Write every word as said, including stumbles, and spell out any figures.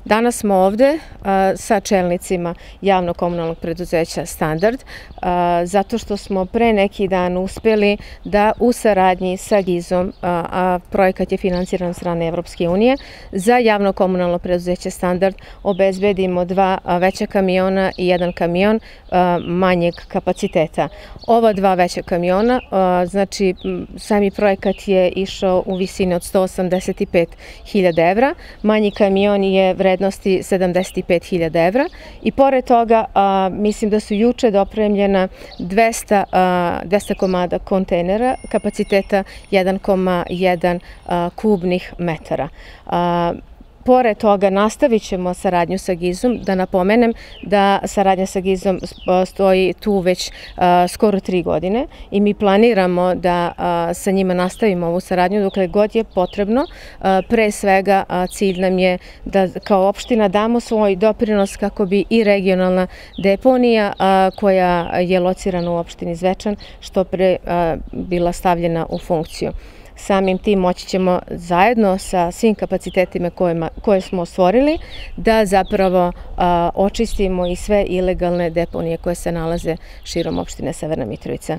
Danas smo ovde sa čelnicima javno-komunalnog preduzeća Standard, zato što smo pre neki dan uspeli da u saradnji sa GIZ-om, a projekat je finansiran od strane Evropske unije, za javno-komunalno preduzeće Standard obezbedimo dva veća kamiona i jedan kamion manjeg kapaciteta. Ova dva veća kamiona, znači sami projekat je išao u visini od sto osamdeset pet hiljada evra, manji kamion je vrednosti sedamdeset pet hiljada evra i pored toga mislim da su juče dopremljena dvesta komada kontejnera kapaciteta jedan zarez jedan kubnih metara. Pored toga nastavit ćemo saradnju sa GIZ-om, da napomenem da saradnja sa GIZ-om stoji tu već skoro tri godine i mi planiramo da sa njima nastavimo ovu saradnju dokle god je potrebno. Pre svega cilj nam je da kao opština damo svoj doprinos kako bi i regionalna deponija koja je locirana u opštini Zvečan što pre bila stavljena u funkciju. Samim tim moći ćemo zajedno sa svim kapacitetima koje smo stvorili da zapravo očistimo i sve ilegalne deponije koje se nalaze širom opštine Severna Mitrovica.